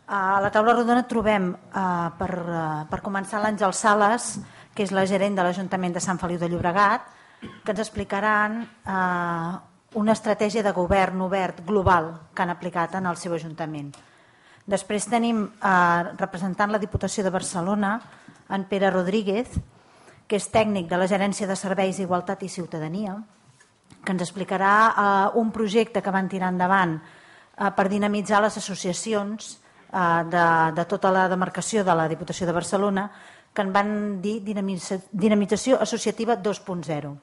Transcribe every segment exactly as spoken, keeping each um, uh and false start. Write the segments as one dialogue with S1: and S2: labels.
S1: A la taula rodona trobem, eh, per, eh, per començar, l'Àngel Sales, que és la gerent de l'Ajuntament de Sant Feliu de Llobregat, que ens explicaran eh, una estratègia de govern obert global que han aplicat en el seu Ajuntament. Després tenim, eh, representant la Diputació de Barcelona, en Pere Rodríguez, que és tècnic de la Gerència de Serveis, Igualtat i Ciutadania, que ens explicarà eh, un projecte que van tirar endavant eh, per dinamitzar les associacions eh, de, de tota la demarcació de la Diputació de Barcelona, que en van dir dinamització associativa dos punt zero.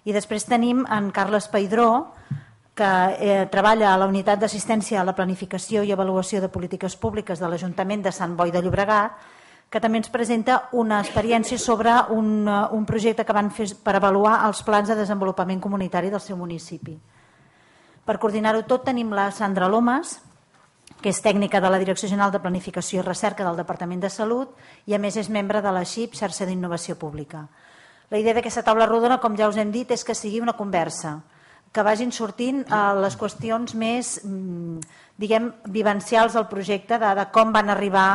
S1: I després tenim en Carles Peidró, que eh, treballa a la Unitat d'Assistència a la Planificació i Avaluació de Polítiques Públiques de l'Ajuntament de Sant Boi de Llobregat, que també ens presenta una experiència sobre un, un projecte que van fer per avaluar els plans de desenvolupament comunitari del seu municipi. Per coordinar-ho tot tenim la Sandra Lomas, que és tècnica de la Direcció General de Planificació i Recerca del Departament de Salut i a més és membre de la X I P, Xarxa d'Innovació Pública. La idea d'aquesta taula rodona, com ja us hem dit, és que sigui una conversa, que vagin sortint les qüestions més, diguem, vivencials del projecte, de, de com van arribar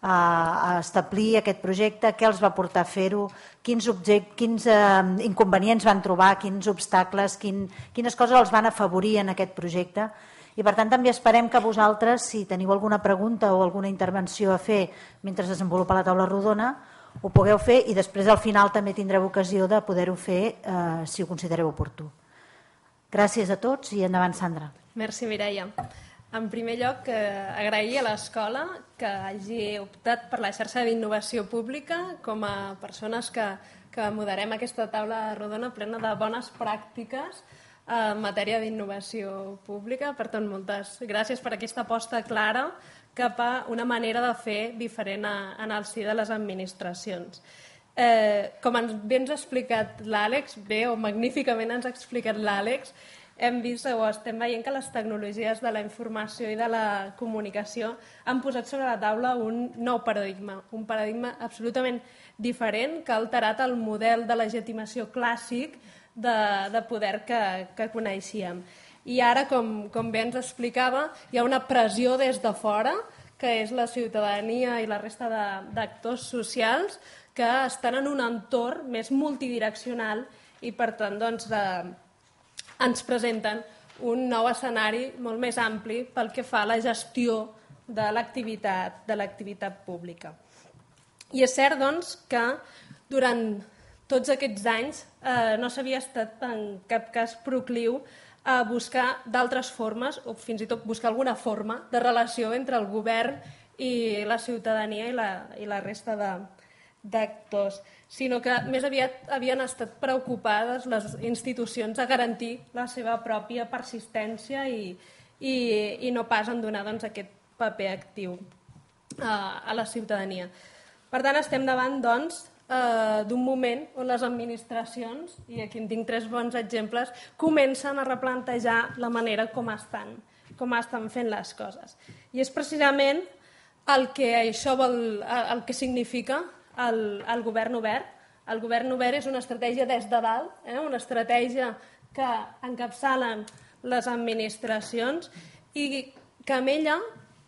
S1: a establir aquest projecte, què els va portar a fer-ho, quins, quins eh, inconvenients van trobar, quins obstacles, quin, quines coses els van afavorir en aquest projecte. I per tant també esperem que vosaltres, si teniu alguna pregunta o alguna intervenció a fer mentre es desenvolupa la taula rodona, ho pugueu fer i després al final també tindreu ocasió de poder-ho fer eh, si ho considereu oportú. Gràcies a tots i endavant, Sandra.
S2: Merci, Mireia. En primer lloc, eh, agrair a l'escola que hagi optat per la xarxa d'innovació pública com a persones que, que moderem aquesta taula rodona plena de bones pràctiques en matèria d'innovació pública. Per tant, moltes gràcies per aquesta aposta clara cap a una manera de fer diferent a, en el si de les administracions. Eh, com ens, bé ens ha explicat l'Àlex, bé o magníficament ens ha explicat l'Àlex, hem vist o estem veient que les tecnologies de la informació i de la comunicació han posat sobre la taula un nou paradigma, un paradigma absolutament diferent que ha alterat el model de legitimació clàssic de, de poder que, que coneixíem. I ara, com, com bé ens explicava, hi ha una pressió des de fora, que és la ciutadania i la resta d'actors socials, que estan en un entorn més multidireccional i, per tant, doncs, eh, ens presenten un nou escenari molt més ampli pel que fa a la gestió de l'activitat de l'activitat pública. I és cert, doncs, que durant tots aquests anys eh, no s'havia estat en cap cas procliu a buscar d'altres formes o fins i tot buscar alguna forma de relació entre el govern i la ciutadania i la, i la resta de, d'actors, sinó que més aviat havien estat preocupades les institucions a garantir la seva pròpia persistència i, i, i no pas en donar doncs, aquest paper actiu a, a la ciutadania. Per tant, estem davant doncs, eh, d'un moment on les administracions, i aquí en tinc tres bons exemples, comencen a replantejar la manera com estan, com estan fent les coses. I és precisament el que això vol, el que significa El, el govern obert. El govern obert és una estratègia des de dalt, eh? una estratègia que encapçalen les administracions i que amb ella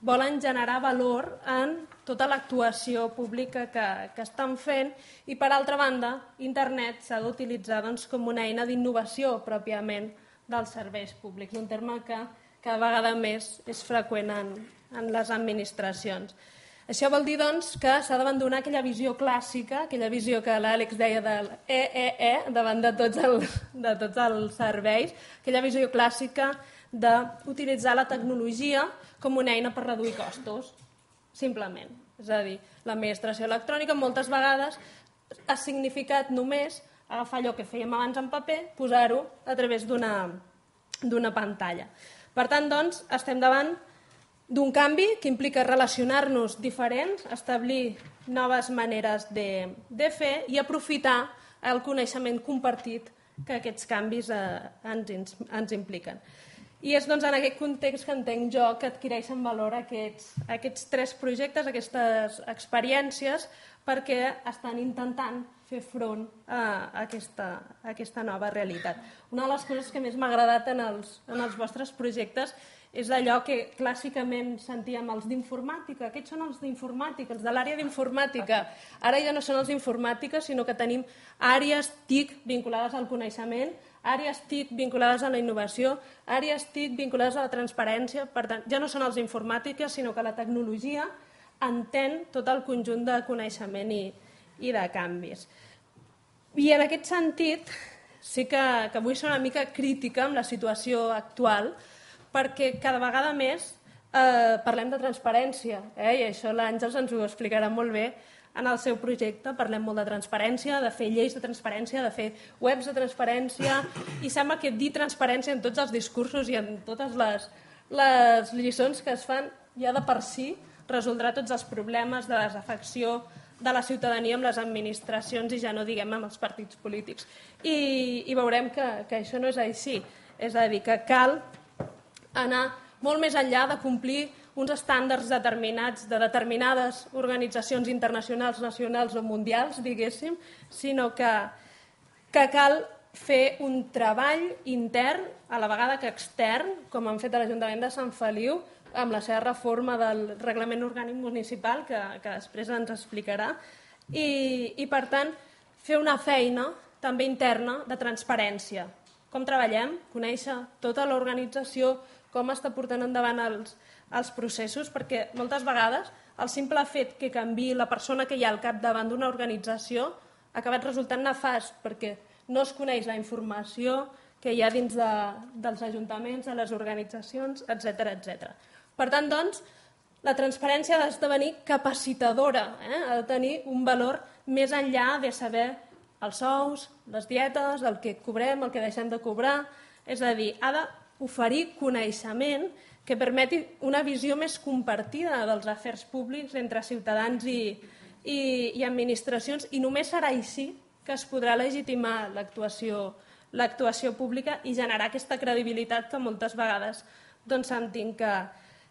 S2: volen generar valor en tota l'actuació pública que, que estan fent i, per altra banda, internet s'ha d'utilitzar doncs, com una eina d'innovació pròpiament dels serveis públics, un terme que cada vegada més és freqüent en, en les administracions. Això vol dir doncs, que s'ha d'abandonar aquella visió clàssica, aquella visió que l'Àlex deia del E E E davant de tots, el, de tots els serveis, aquella visió clàssica d'utilitzar la tecnologia com una eina per reduir costos, simplement. És a dir, l'administració electrònica moltes vegades ha significat només agafar allò que fèiem abans en paper, posar-ho a través d'una d'una pantalla. Per tant, doncs, estem davant d'un canvi que implica relacionar-nos diferents, establir noves maneres de, de fer i aprofitar el coneixement compartit que aquests canvis eh, ens, ens impliquen. I és doncs, en aquest context que entenc jo que adquireixen valor aquests, aquests tres projectes, aquestes experiències, perquè estan intentant fer front a aquesta, a aquesta nova realitat. Una de les coses que més m'ha agradat en els, en els vostres projectes és allò que clàssicament sentíem els d'informàtica. Aquests són els d'informàtica, els de l'àrea d'informàtica. Ara ja no són els d'informàtica, sinó que tenim àrees T I C vinculades al coneixement, àrees T I C vinculades a la innovació, àrees T I C vinculades a la transparència. Per tant, ja no són els d'informàtica, sinó que la tecnologia entén tot el conjunt de coneixement i, i de canvis. I en aquest sentit, sí que, que vull ser una mica crítica amb la situació actual, perquè cada vegada més eh, parlem de transparència, eh? I això l'Àngels ens ho explicarà molt bé en el seu projecte. Parlem molt de transparència, de fer lleis de transparència, de fer webs de transparència, i sembla que dir transparència en tots els discursos i en totes les, les lliçons que es fan ja de per si resoldrà tots els problemes de desafecció de la ciutadania amb les administracions i ja no diguem amb els partits polítics. I, i veurem que, que això no és així. És a dir, que cal anar molt més enllà de complir uns estàndards determinats de determinades organitzacions internacionals, nacionals o mundials, diguéssim, sinó que, que cal fer un treball intern, a la vegada que extern, com han fet a l'Ajuntament de Sant Feliu, amb la seva reforma del reglament orgànic municipal, que, que després ens explicarà, i, i per tant fer una feina també interna de transparència. Com treballem, conèixer tota l'organització, com està portant endavant els, els processos, perquè moltes vegades el simple fet que canviï la persona que hi ha al capdavant d'una organització ha acabat resultant nefast, perquè no es coneix la informació que hi ha dins de, dels ajuntaments, de les organitzacions, etcètera, etcètera. Per tant, doncs, la transparència ha d'esdevenir capacitadora, eh? Ha de tenir un valor més enllà de saber els sous, les dietes, el que cobrem, el que deixem de cobrar. És a dir, ha d'oferir coneixement que permeti una visió més compartida dels afers públics entre ciutadans i, i, i administracions, i només serà així que es podrà legitimar l'actuació l'actuació pública i generar aquesta credibilitat que moltes vegades doncs, sentim que,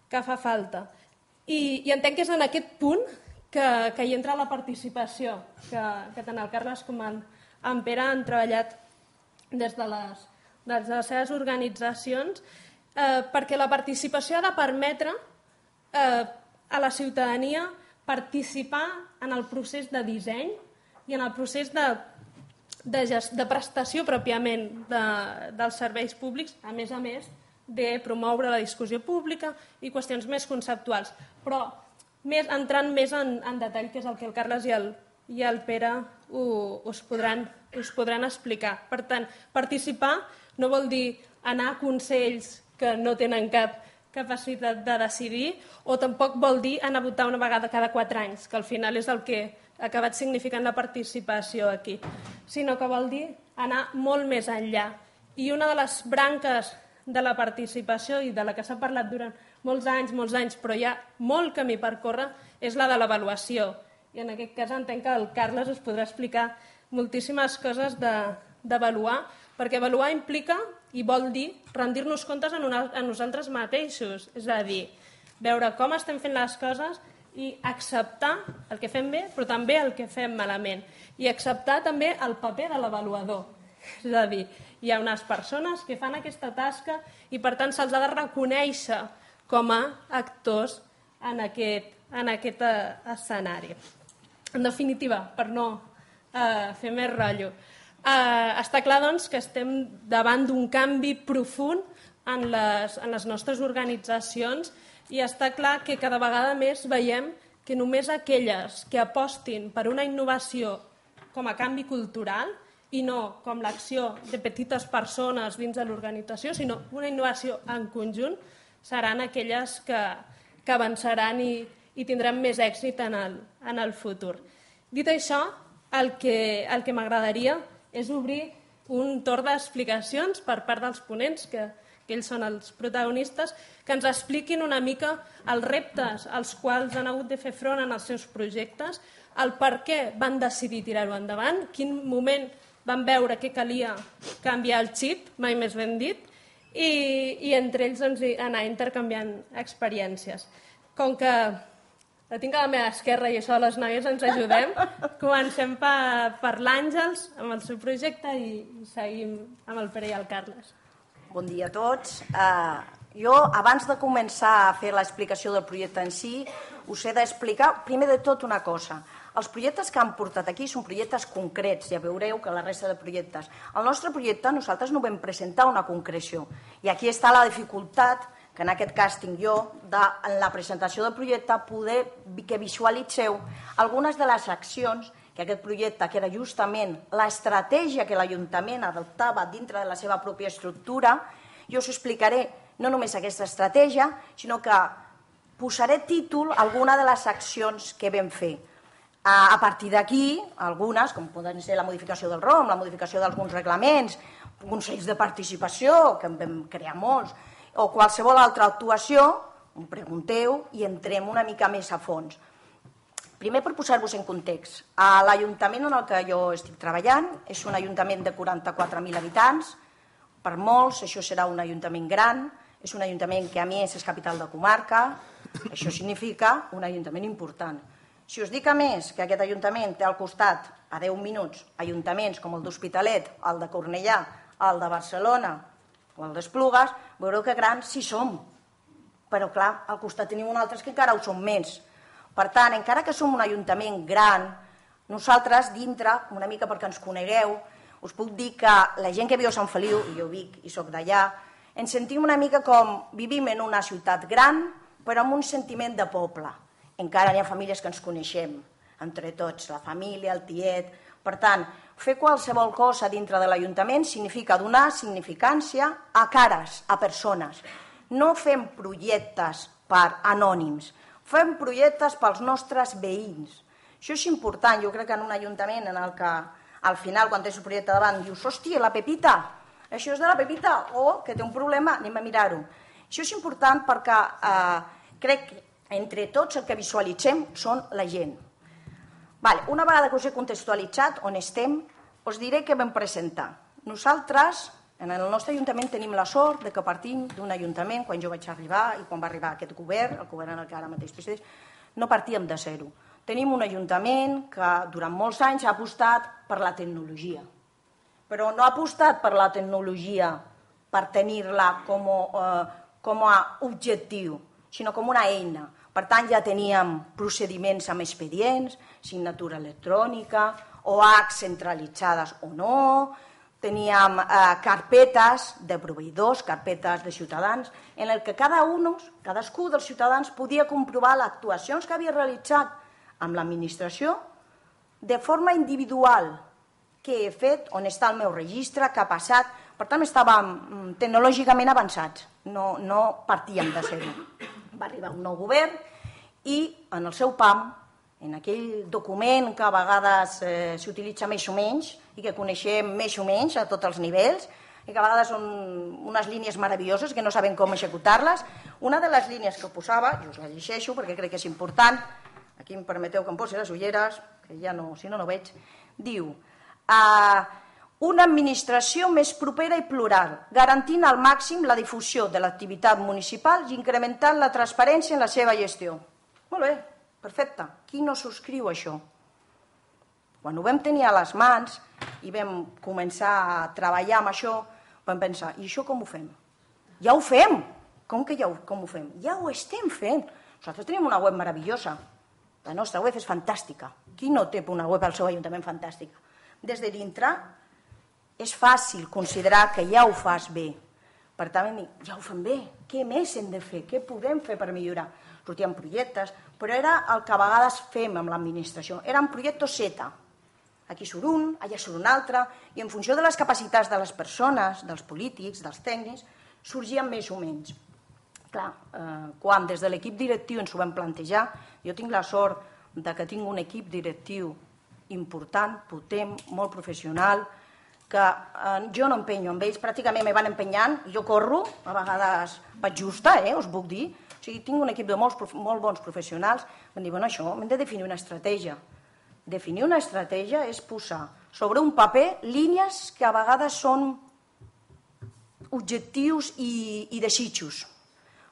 S2: que fa falta. I, I entenc que és en aquest punt que, que hi entra la participació, que, que tant el Carles com en, en Pere han treballat des de les, des de les seves organitzacions, eh, perquè la participació ha de permetre eh, a la ciutadania participar en el procés de disseny i en el procés de De, gest, de prestació pròpiament de, dels serveis públics, a més a més de promoure la discussió pública i qüestions més conceptuals, però més, entrant més en, en detall, que és el que el Carles i el, i el Pere ho, us, podran, us podran explicar. Per tant, participar no vol dir anar a consells que no tenen cap capacitat de decidir, o tampoc vol dir anar a votar una vegada cada quatre anys, que al final és el que ha acabat significant la participació aquí, sinó que vol dir anar molt més enllà. I una de les branques de la participació i de la que s'ha parlat durant molts anys, molts anys, però hi ha molt camí per córrer, és la de l'avaluació. I en aquest cas entenc que el Carles us podrà explicar moltíssimes coses d'avaluar, perquè avaluar implica i vol dir rendir-nos comptes a, una, a nosaltres mateixos, és a dir, veure com estem fent les coses i acceptar el que fem bé, però també el que fem malament. I acceptar també el paper de l'avaluador. És a dir, hi ha unes persones que fan aquesta tasca i per tant se'ls ha de reconèixer com a actors en aquest, en aquest escenari. En definitiva, per no eh, fer més rotllo, eh, està clar doncs, que estem davant d'un canvi profund en les, en les nostres organitzacions. I està clar que cada vegada més veiem que només aquelles que apostin per una innovació com a canvi cultural i no com l'acció de petites persones dins de l'organització, sinó una innovació en conjunt, seran aquelles que, que avançaran i, i tindran més èxit en el, en el futur. Dit això, el que, el que m'agradaria és obrir un torn d'explicacions per part dels ponents, que que ells són els protagonistes, que ens expliquin una mica els reptes als quals han hagut de fer front en els seus projectes, el per què van decidir tirar-ho endavant, quin moment van veure que calia canviar el xip, mai més ben dit, i, i entre ells doncs, anar intercanviant experiències. Com que la tinc a la meva esquerra i això les noies ens ajudem, comencem per, per l'Àngels amb el seu projecte i, i seguim amb el Pere i el Carles.
S3: Bon dia a tots. Uh, Jo, abans de començar a fer l'explicació del projecte en si, us he d'explicar, primer de tot, una cosa. Els projectes que han portat aquí són projectes concrets, ja veureu que la resta de projectes. El nostre projecte, nosaltres no vam presentar una concreció. I aquí està la dificultat, que en aquest cas tinc jo, de, en la presentació del projecte, poder que visualitzeu algunes de les accions que aquest projecte, que era justament l'estratègia que l'Ajuntament adoptava dintre de la seva pròpia estructura. Jo us explicaré no només aquesta estratègia, sinó que posaré títol a alguna de les accions que vam fer. A partir d'aquí, algunes, com poden ser la modificació del R O M, la modificació d'alguns reglaments, consells de participació, que en vam crear molts, o qualsevol altra actuació, em pregunteu i entrem una mica més a fons. Primer, per posar-vos en context, l'Ajuntament en el que jo estic treballant és un ajuntament de quaranta-quatre mil habitants. Per molts, això serà un ajuntament gran, és un ajuntament que a més és capital de comarca, això significa un ajuntament important. Si us dic a més que aquest ajuntament té al costat, a deu minuts, ajuntaments com el d'Hospitalet, el de Cornellà, el de Barcelona o el d'Esplugues, veureu que grans sí som. Però clar, al costat tenim un altre que encara ho som més. Per tant, encara que som un ajuntament gran, nosaltres dintre, una mica perquè ens conegueu, us puc dir que la gent que viu a Sant Feliu, i jo vic i soc d'allà, ens sentim una mica com vivim en una ciutat gran, però amb un sentiment de poble. Encara hi ha famílies que ens coneixem, entre tots, la família, el tiet. Per tant, fer qualsevol cosa dintre de l'Ajuntament significa donar significància a cares, a persones. No fem projectes per anònims, fem projectes pels nostres veïns. Això és important, jo crec que en un ajuntament en el que al final, quan tens un projecte davant, dius, hòstia, la Pepita, això és de la Pepita, o que té un problema, anem a mirar-ho. Això és important perquè eh, crec que entre tots el que visualitzem són la gent. Vale, una vegada que us he contextualitzat on estem, us diré què vam presentar. Nosaltres, en el nostre ajuntament, tenim la sort de que partim d'un ajuntament, quan jo vaig arribar i quan va arribar aquest govern, el govern en el que ara mateix presideix, no partíem de zero. Tenim un ajuntament que durant molts anys ha apostat per la tecnologia, però no ha apostat per la tecnologia per tenir-la com, eh, com a objectiu, sinó com una eina. Per tant, ja teníem procediments amb expedients, signatura electrònica, O H centralitzades o no, teníem eh, carpetes de proveïdors, carpetes de ciutadans, en el que cada un, cadascú dels ciutadans podia comprovar les actuacions que havia realitzat amb l'administració de forma individual, què he fet, on està el meu registre, què ha passat. Per tant, estàvem tecnològicament avançats, no, no partíem de zero. Va arribar un nou govern i en el seu P A M, en aquell document que a vegades eh, s'utilitza més o menys i que coneixem més o menys a tots els nivells i que a vegades són unes línies meravelloses que no sabem com executar-les, una de les línies que posava, jo us la llegeixo perquè crec que és important, aquí em permeteu que em posi les ulleres, que ja no, si no, no veig, diu eh, una administració més propera i plural, garantint al màxim la difusió de l'activitat municipal i incrementant la transparència en la seva gestió. Molt bé, perfecte. Qui no subscriu això? Quan ho vam tenir a les mans i vam començar a treballar amb això, vam pensar, i això com ho fem? Ja ho fem! Com que ja ho, com ho fem? Ja ho estem fent. Nosaltres tenim una web meravellosa. La nostra web és fantàstica. Qui no té una web al seu ajuntament fantàstica? Des de dintre és fàcil considerar que ja ho fas bé. Per tant, ja ho fem bé. Què més hem de fer? Què podem fer per millorar? Sortien projectes, però era el que a vegades fem amb l'administració. Eren projectes Z. Aquí surt un, allà surt un altre, i en funció de les capacitats de les persones, dels polítics, dels tècnics, sorgien més o menys. Clar, eh, quan des de l'equip directiu ens ho vam plantejar, jo tinc la sort de que tinc un equip directiu important, potent, molt professional, que eh, jo no empenyo amb ells, pràcticament me van empenyant, jo corro, a vegades vaig justa, eh, us puc dir, o sigui, tinc un equip de molts, molt bons professionals, em diuen, bueno, això, hem de definir una estratègia. Definir una estratègia és posar sobre un paper línies que a vegades són objectius i, i desitjos.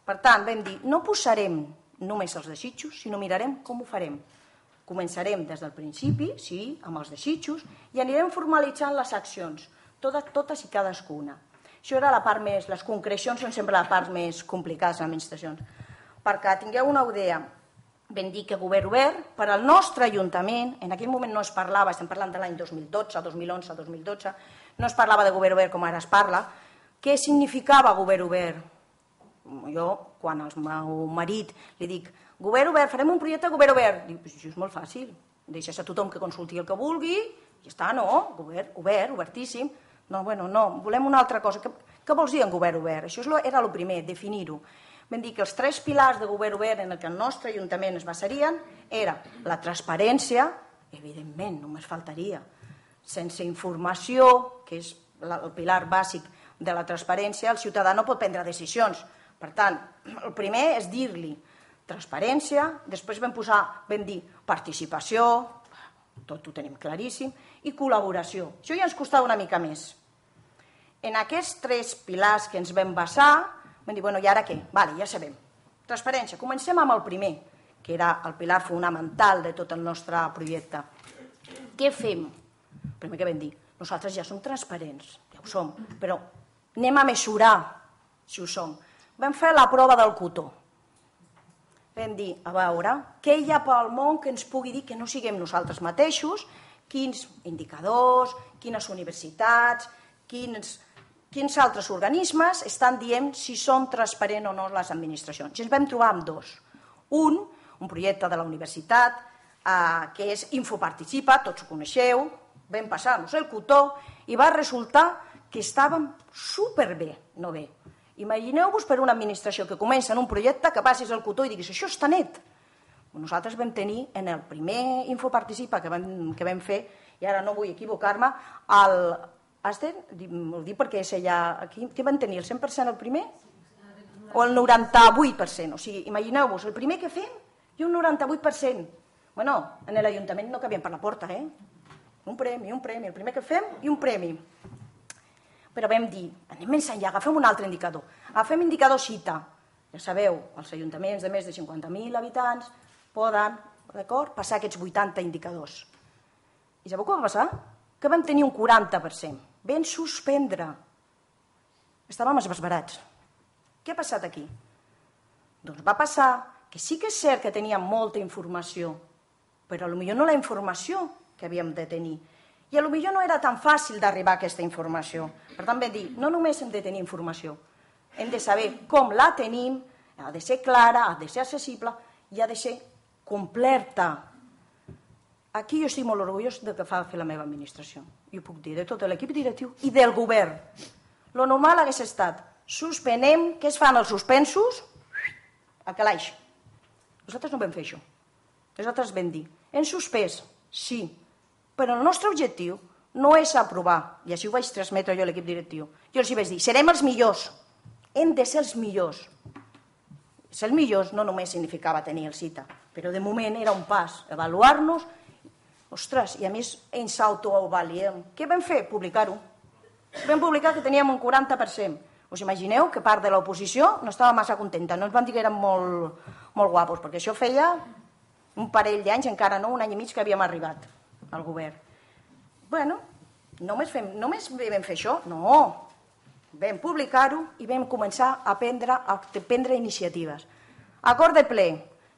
S3: Per tant, vam dir, no posarem només els desitjos, sinó mirarem com ho farem. Començarem des del principi, sí, amb els desitjos, i anirem formalitzant les accions, totes, totes i cadascuna. Això era la part més... Les concrecions són sempre la part més complicada de les administracions. Perquè tingueu una idea, vam dir que govern obert, per al nostre Ajuntament, en aquell moment no es parlava, estem parlant de l'any dos mil dotze, dos mil onze, dos mil dotze, no es parlava de govern obert com ara es parla. Què significava govern obert? Jo, quan al meu marit li dic govern obert, farem un projecte de govern obert, dic, això és molt fàcil, deixes a tothom que consulti el que vulgui, i està, no, govern obert, obertíssim. No, bueno, no, volem una altra cosa. Què, què vols dir en govern obert? Això era el primer, definir-ho. Vam dir que els tres pilars de govern obert en què el nostre Ajuntament es basarien era la transparència, evidentment, només faltaria, sense informació, que és el pilar bàsic de la transparència, el ciutadà no pot prendre decisions. Per tant, el primer és dir-li transparència, després vam posar, vam dir participació, tot ho tenim claríssim, i col·laboració. Això ja ens costava una mica més. En aquests tres pilars que ens vam basar, vam dir, bueno, i ara què? Vale, ja sabem. Transparència. Comencem amb el primer, que era el pilar fonamental de tot el nostre projecte. Què fem? El primer que vam dir, nosaltres ja som transparents, ja ho som, però anem a mesurar si ho som. Vam fer la prova del cotó. Vam dir, a veure, què hi ha pel món que ens pugui dir que no siguem nosaltres mateixos, quins indicadors, quines universitats, quins, quins altres organismes estan dient si són transparents o no les administracions. I ens vam trobar amb dos. Un, un projecte de la universitat, eh, que és Infoparticipa, tots ho coneixeu, vam passar-nos el cotó i va resultar que estàvem superbé, no bé. Imagineu-vos per una administració que comença en un projecte que passis el cotó i diguis això està net. Nosaltres vam tenir en el primer Infoparticipa que vam, que vam fer, i ara no vull equivocar-me, el... Aster, ho dic perquè és allà... Aquí, què van tenir, el cent per cent el primer? O el noranta-vuit per cent? O sigui, imagineu-vos, el primer que fem i un noranta-vuit per cent. Bueno, en l'Ajuntament no cabien per la porta, eh? Un premi, un premi, el primer que fem i un premi. Però vam dir, anem més enllà, agafem un altre indicador. Agafem indicador cita. Ja sabeu, els ajuntaments de més de cinquanta mil habitants poden, d'acord, passar aquests vuitanta indicadors. I sabeu què va passar? Que vam tenir un quaranta per cent. Vam suspendre. Estàvem esbesbarats. Què ha passat aquí? Doncs va passar que sí que és cert que teníem molta informació, però potser no la informació que havíem de tenir. I potser no era tan fàcil d'arribar a aquesta informació. Per tant, vam dir, no només hem de tenir informació, hem de saber com la tenim, ha de ser clara, ha de ser accessible i ha de ser completa. Aquí jo estic molt orgullós del que fa fer la meva administració. I ho puc dir, de tot l'equip directiu i del govern. Lo normal hagués estat, suspenem, què es fan els suspensos? A calaix. Nosaltres no vam fer això. Nosaltres vam dir, hem suspès, sí, però el nostre objectiu no és aprovar, i així ho vaig transmetre jo a l'equip directiu. Jo els hi vaig dir, serem els millors, hem de ser els millors. Ser els millors no només significava tenir el cita, però de moment era un pas, avaluar-nos. Ostres, i a més ens autoavaliem. Què vam fer? Publicar-ho. Vam publicar que teníem un quaranta per cent. Us imagineu que part de l'oposició no estava massa contenta, no ens van dir que érem molt, molt guapos, perquè això feia un parell d'anys, encara no, un any i mig que havíem arribat al govern. Bueno, només, fem, només vam fer això? No. Vam publicar-ho i vam començar a prendre, a prendre iniciatives. Acord de ple.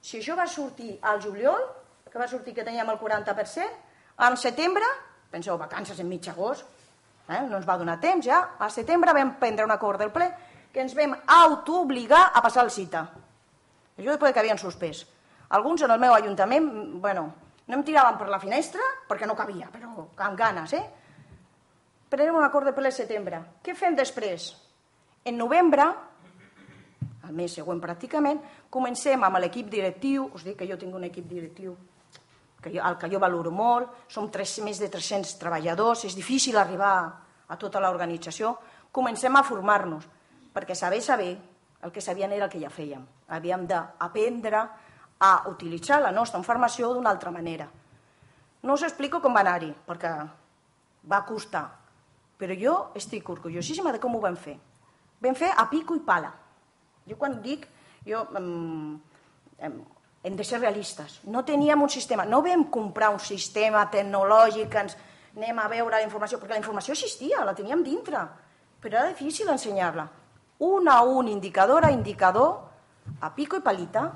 S3: Si això va sortir al juliol, que va sortir que teníem el quaranta per cent, al setembre, penseu, vacances en mig agost, eh? no ens va donar temps ja, al setembre vam prendre un acord del ple que ens vam autoobligar a passar el cita. Això després que havien suspès. Alguns en el meu ajuntament, bueno, no em tiraven per la finestra perquè no cabia, però amb ganes, eh? Prenem un acord de ple al setembre. Què fem després? En novembre, el mes següent pràcticament, comencem amb l'equip directiu, us dic que jo tinc un equip directiu que jo, el que jo valoro molt, som tres, més de tres-cents treballadors, és difícil arribar a tota l'organització, comencem a formar-nos, perquè saber, saber, el que sabien era el que ja fèiem. Havíem d'aprendre a utilitzar la nostra informació d'una altra manera. No us explico com va anar-hi, perquè va costar, però jo estic orgullosíssima de com ho vam fer. Vam fer a pico i pala. Jo quan dic, jo, em, em, hem de ser realistes. No teníem un sistema, no vam comprar un sistema tecnològic que ens anem a veure la informació, perquè la informació existia, la teníem dintre. però era difícil ensenyar-la. Un a un, indicador a indicador, a pico i palita,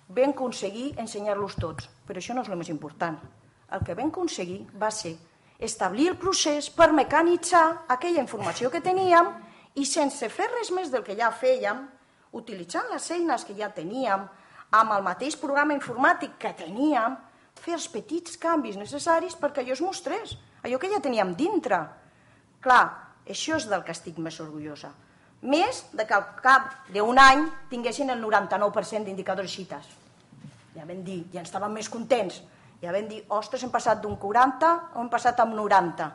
S3: vam aconseguir ensenyar-los tots. Però això no és el més important. El que vam aconseguir va ser establir el procés per mecanitzar aquella informació que teníem i sense fer res més del que ja fèiem, utilitzant les eines que ja teníem, amb el mateix programa informàtic que teníem, fer els petits canvis necessaris perquè allò es mostrés, allò que ja teníem dintre. Clar, això és del que estic més orgullosa. Més de que al cap d'un any tinguessin el noranta-nou per cent d'indicadors xites. Ja vam dir, ja estàvem més contents. Ja vam dir, ostres, hem passat d'un quaranta o hem passat amb noranta.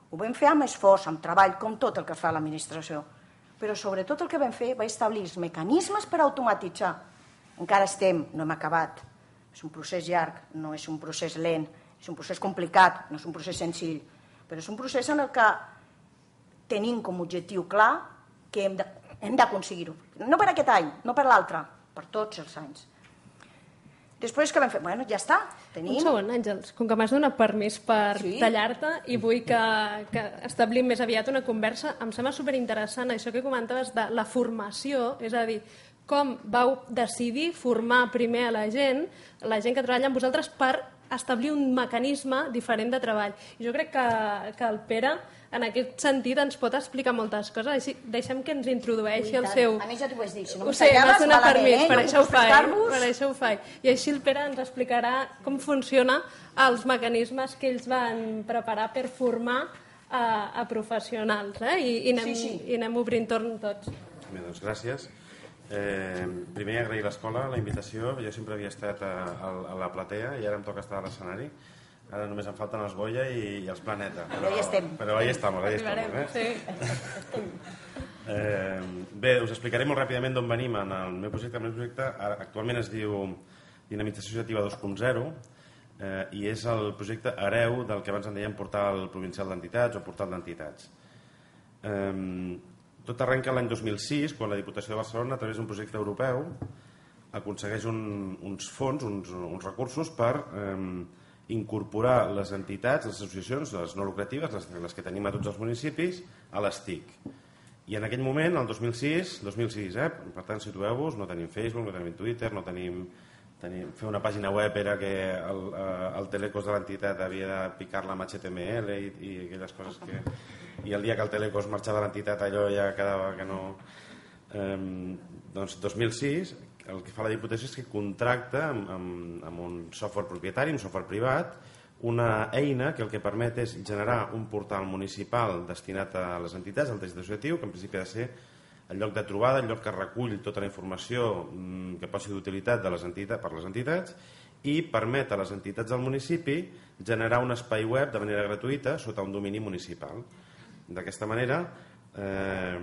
S3: Ho vam fer amb esforç, amb treball, com tot el que fa l'administració. Però sobretot el que vam fer va establir els mecanismes per automatitzar. Encara estem, no hem acabat. És un procés llarg, no és un procés lent, és un procés complicat, no és un procés senzill, però és un procés en el que tenim com a objectiu clar que hem d'aconseguir-ho. No per aquest any, no per l'altre, per tots els anys. Després que vam fer? Bueno, ja està, tenim...
S2: Un segon, Àngels, com que m'has donat permís per sí? tallar-te i vull que, que establim més aviat una conversa, em sembla superinteressant això que comentaves de la formació, és a dir, com vau decidir formar primer a la gent, la gent que treballa amb vosaltres, per establir un mecanisme diferent de treball. I jo crec que, que el Pere, en aquest sentit, ens pot explicar moltes coses. Així, deixem que ens introdueixi el seu...
S3: A mi ja t'ho vaig dir, si no
S2: ho sé, m'has donat permís, per,
S3: eh?
S2: això ho faig, per això ho faig. I així el Pere ens explicarà com funciona els mecanismes que ells van preparar per formar a, a professionals. Eh? I, i, anem,
S3: sí, sí.
S2: I anem obrint torn tots.
S4: Bé, doncs gràcies. Eh, primer agrair l'escola, la invitació. Jo sempre havia estat a, a, a la platea i ara em toca estar a l'escenari. Ara només em falten els Goya i, i els Planeta.
S3: Però ja estem.
S4: Però ahí estem, ahí estem. Eh?
S2: Sí.
S4: Eh, bé, us explicaré molt ràpidament d'on venim en el meu projecte. El meu projecte actualment es diu Dinamització Associativa dos punt zero eh, i és el projecte hereu del que abans en dèiem Portal Provincial d'Entitats o Portal d'Entitats. Eh, tot arrenca l'any dos mil sis, quan la Diputació de Barcelona, a través d'un projecte europeu, aconsegueix un, uns fons, uns, uns recursos per eh, incorporar les entitats, les associacions, les no lucratives, les, les que tenim a tots els municipis, a les T I C. I en aquell moment, el dos mil sis, dos mil sis, eh? Per tant, situeu-vos, no tenim Facebook, no tenim Twitter, no tenim, tenim... Fer una pàgina web era que el, el telecos de l'entitat havia de picar-la amb H T M L i, i aquelles coses que... I el dia que el telecos marxava de l'entitat allò ja quedava que no... Eh, doncs dos mil sis, el que fa la Diputació és que contracta amb, amb, amb un software propietari, un software privat, una eina que el que permet és generar un portal municipal destinat a les entitats, al teixit associatiu, que en principi ha de ser el lloc de trobada, el lloc que recull tota la informació que pot ser d'utilitat de les entitats, per les entitats, i permet a les entitats del municipi generar un espai web de manera gratuïta sota un domini municipal. D'aquesta manera, eh,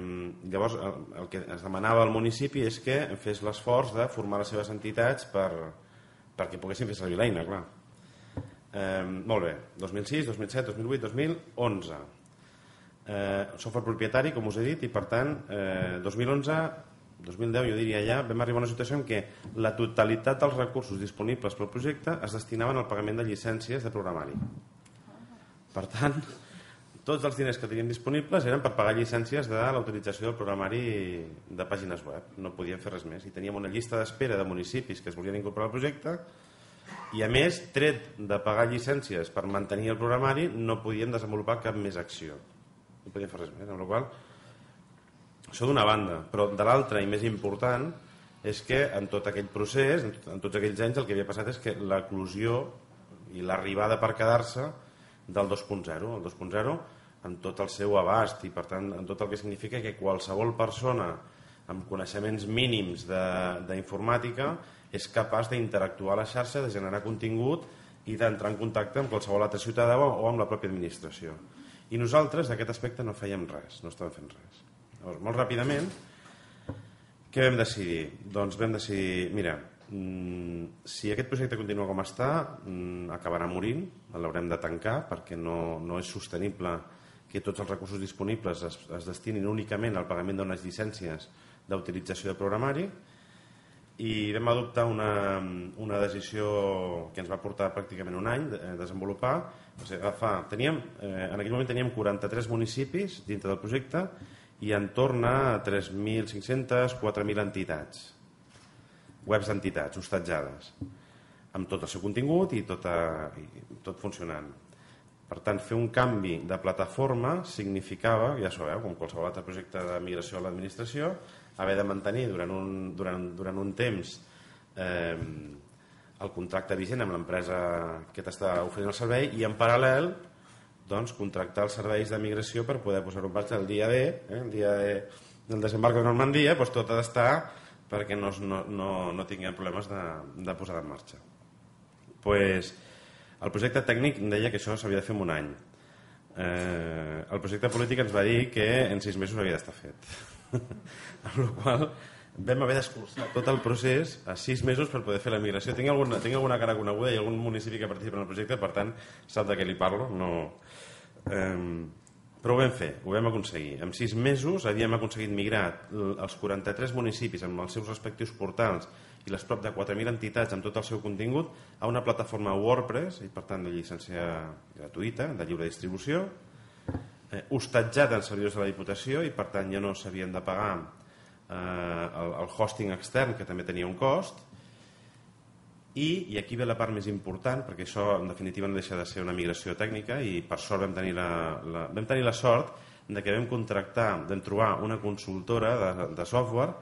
S4: llavors el, el que es demanava al municipi és que fes l'esforç de formar les seves entitats per, perquè poguessin fer servir l'eina, clar. Eh, molt bé, dos mil sis, dos mil set, dos mil vuit, dos mil onze. Eh, software propietari, com us he dit, i per tant, eh, dos mil onze, dos mil deu, jo diria ja, vam arribar a una situació en què la totalitat dels recursos disponibles pel projecte es destinaven al pagament de llicències de programari. Per tant, tots els diners que teníem disponibles eren per pagar llicències de la utilització del programari de pàgines web. No podíem fer res més. I teníem una llista d'espera de municipis que es volien incorporar al projecte i, a més, tret de pagar llicències per mantenir el programari, no podíem desenvolupar cap més acció. No podíem fer res més. Amb la qual cosa, això d'una banda. Però de l'altra, i més important, és que en tot aquell procés, en, tot, en tots aquells anys, el que havia passat és que l'eclosió i l'arribada per quedar-se del dos punt zero. El dos punt zero en tot el seu abast i, per tant, en tot el que significa que qualsevol persona amb coneixements mínims d'informàtica és capaç d'interactuar a la xarxa, de generar contingut i d'entrar en contacte amb qualsevol altre ciutadà o amb la pròpia administració. I nosaltres, d'aquest aspecte, no fèiem res, no estàvem fent res. Llavors, molt ràpidament, què vam decidir? Doncs vam decidir, mira, si aquest projecte continua com està, acabarà morint, l'haurem de tancar perquè no, no és sostenible que tots els recursos disponibles es, es destinin únicament al pagament d'unes llicències d'utilització de programari, i vam adoptar una, una decisió que ens va portar pràcticament un any a desenvolupar. O sigui, agafar, teníem, eh, en aquell moment teníem quaranta-tres municipis dintre del projecte i entorn a tres mil cinc-centes a quatre mil entitats, webs d'entitats hostatjades, amb tot el seu contingut i tot, a, i tot funcionant. Per tant, fer un canvi de plataforma significava, ja sabeu, com qualsevol altre projecte de migració a l'administració, haver de mantenir durant un, durant, durant un temps eh, el contracte vigent amb l'empresa que t'està oferint el servei i en paral·lel doncs, contractar els serveis de migració per poder posar-ho en marxa el dia D, eh, el dia D del desembarc de Normandia, doncs tot ha d'estar perquè no, no, no, no tinguem problemes de, de posar en marxa. Pues, el projecte tècnic deia que això s'havia de fer en un any. Eh, el projecte polític ens va dir que en sis mesos havia d'estar fet. Amb la qual vam haver d'escurçar tot el procés a sis mesos per poder fer la migració. Tinc alguna, tinc alguna cara coneguda i algun municipi que participa en el projecte, per tant, sap de què li parlo. No. Eh, però ho vam fer, ho vam aconseguir. En sis mesos havíem aconseguit migrar els quaranta-tres municipis amb els seus respectius portals i les prop de quatre mil entitats amb tot el seu contingut a una plataforma WordPress i per tant de llicència gratuïta, de lliure distribució, eh, hostatjat en servidors de la Diputació i per tant ja no s'havien de pagar eh, el, el hosting extern que també tenia un cost i, i aquí ve la part més important perquè això en definitiva no deixa de ser una migració tècnica i per sort vam tenir la, la, vam tenir la sort de que vam contractar, vam trobar una consultora de, de software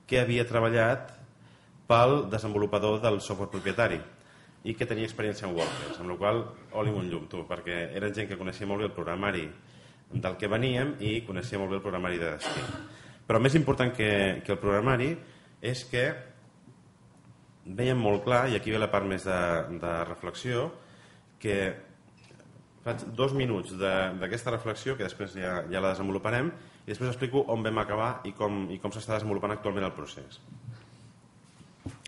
S4: que havia treballat pel desenvolupador del software propietari i que tenia experiència en WordPress, amb la qual cosa, oli un llum, tu, perquè eren gent que coneixia molt bé el programari del que veníem i coneixia molt bé el programari de destí. Però més important que, que el programari és que veiem molt clar, i aquí ve la part més de, de reflexió, que faig dos minuts d'aquesta reflexió, que després ja, ja la desenvoluparem, i després explico on vam acabar i com, i com s'està desenvolupant actualment el procés.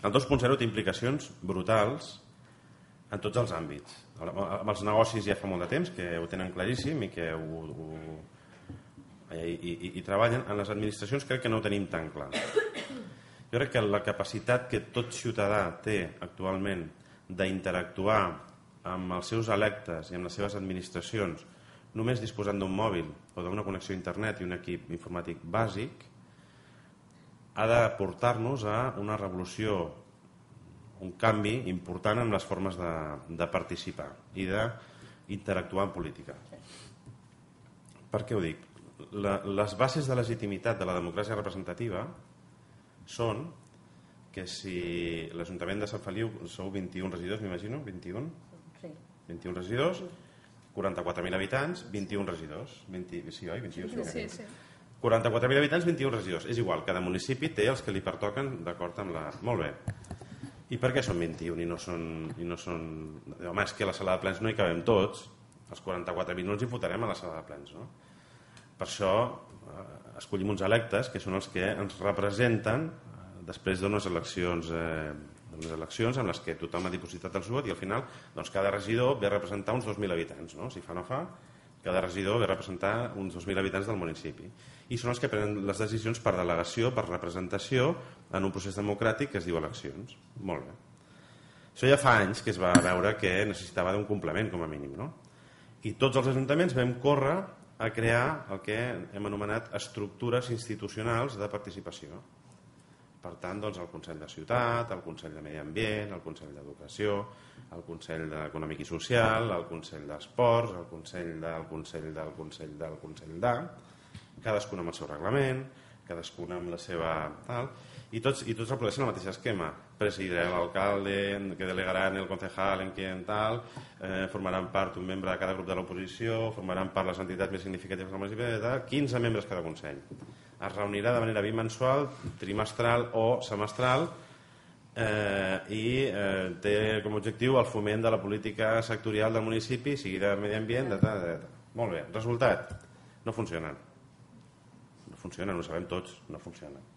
S4: El dos punt zero té implicacions brutals en tots els àmbits. Amb els negocis ja fa molt de temps que ho tenen claríssim i que ho, ho, i, i, i treballen. En les administracions crec que no ho tenim tan clar. Jo crec que la capacitat que tot ciutadà té actualment d'interactuar amb els seus electes i amb les seves administracions només disposant d'un mòbil o d'una connexió a internet i un equip informàtic bàsic ha de portar-nos a una revolució, un canvi important en les formes de, de participar i d'interactuar en política. Per què ho dic? La, les bases de legitimitat de la democràcia representativa són que si l'Ajuntament de Sant Feliu sou vint-i-un regidors, m'imagino, vint-i-un?
S3: Sí.
S4: vint-i-un regidors, quaranta-quatre mil habitants, vint-i-un regidors. vint, sí, oi? vint-i-un,
S2: sí, sí.
S4: quaranta-quatre mil habitants, vint-i-un regidors. És igual, cada municipi té els que li pertoquen d'acord amb la... Molt bé. I per què són vint-i-un i no són... I no són... Home, és que a la sala de plens no hi cabem tots. Els quaranta-quatre mil no ens hi fotrem a la sala de plens, no? Per això eh, escollim uns electes que són els que ens representen eh, després d'unes eleccions, eh, d'unes eleccions en les que tothom ha dipositat el seu vot i al final doncs, cada regidor ve a representar uns dos mil habitants, no? Si fa no fa... Cada regidor ve a representar uns dos mil habitants del municipi. I són els que prenen les decisions per delegació, per representació, en un procés democràtic que es diu eleccions. Molt bé. Això ja fa anys que es va veure que necessitava d'un complement, com a mínim, no? I tots els ajuntaments vam córrer a crear el que hem anomenat estructures institucionals de participació. Per tant, doncs, el Consell de Ciutat, el Consell de Medi Ambient, el Consell d'Educació, el Consell Econòmic i Social, el Consell d'Esports, el Consell del Consell del Consell del Consell de... Cadascun amb el seu reglament, cadascun amb la seva... tal, i tots, i tots reprodueixen el mateix esquema. Presidirà l'alcalde, que delegaran el concejal en quien tal, eh, formaran part un membre de cada grup de l'oposició, formaran part les entitats més significatives del municipi, tal, quinze membres cada consell. Es reunirà de manera bimensual, trimestral o semestral eh, i eh, té com a objectiu el foment de la política sectorial del municipi, sigui de medi ambient, de tal, de tal. Molt bé, resultat, no funcionen. No funcionen, ho sabem tots, no funcionen.